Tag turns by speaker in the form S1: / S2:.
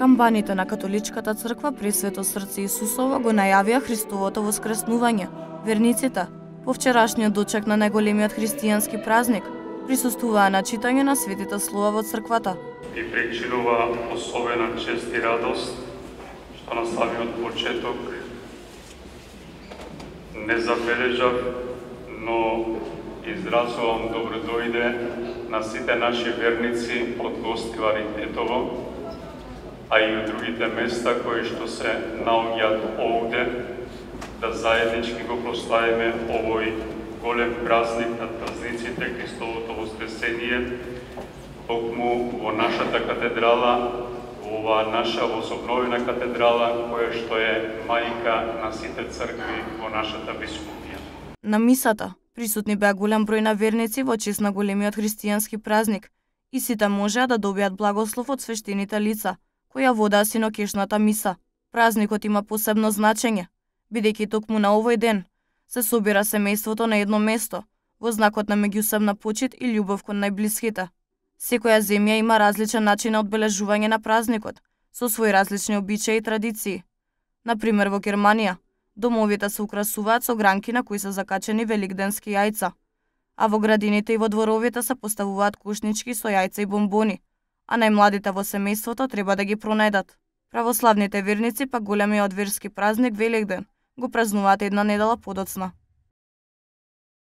S1: Камбаните на католичката црква Пресвето срце Исусово го најавија Христовото воскреснување. Верниците, по вчерашниот дочек на најголемиот христијански празник, присуствуваа на читање на светите слова во црквата.
S2: И причинува особена чест и радост, што на самиот почеток не забележав, но изразувам добродојде на сите наши верници од Гостивари Тетово, а и од другите места кои што се наоѓаат овде, да заеднички го прославиме овој голем празник на празниците Христовото воскресение, токму во нашата катедрала, во оваа наша возобновена катедрала, која што е мајка на сите цркви во нашата бискупија.
S1: На мисата присутни беа голем број на верници во чест на големиот христијански празник и сите можеа да добијат благослов од свештените лица, која водаа синокешната миса. Празникот има посебно значење, бидејќи токму на овој ден се собира семејството на едно место, во знакот на меѓусебна почит и љубов кон најблиските. Секоја земја има различен начин на одбележување на празникот, со своји различни обичаи и традиции. Например, во Германија, домовите се украсуваат со гранки на кои се закачени великденски јајца, а во градините и во дворовите се поставуваат кушнички со јајца и бомбони, а најмладите во семејството треба да ги пронајдат. Православните верници пак големиот верски празник Великден го празнуваат една недела подоцна.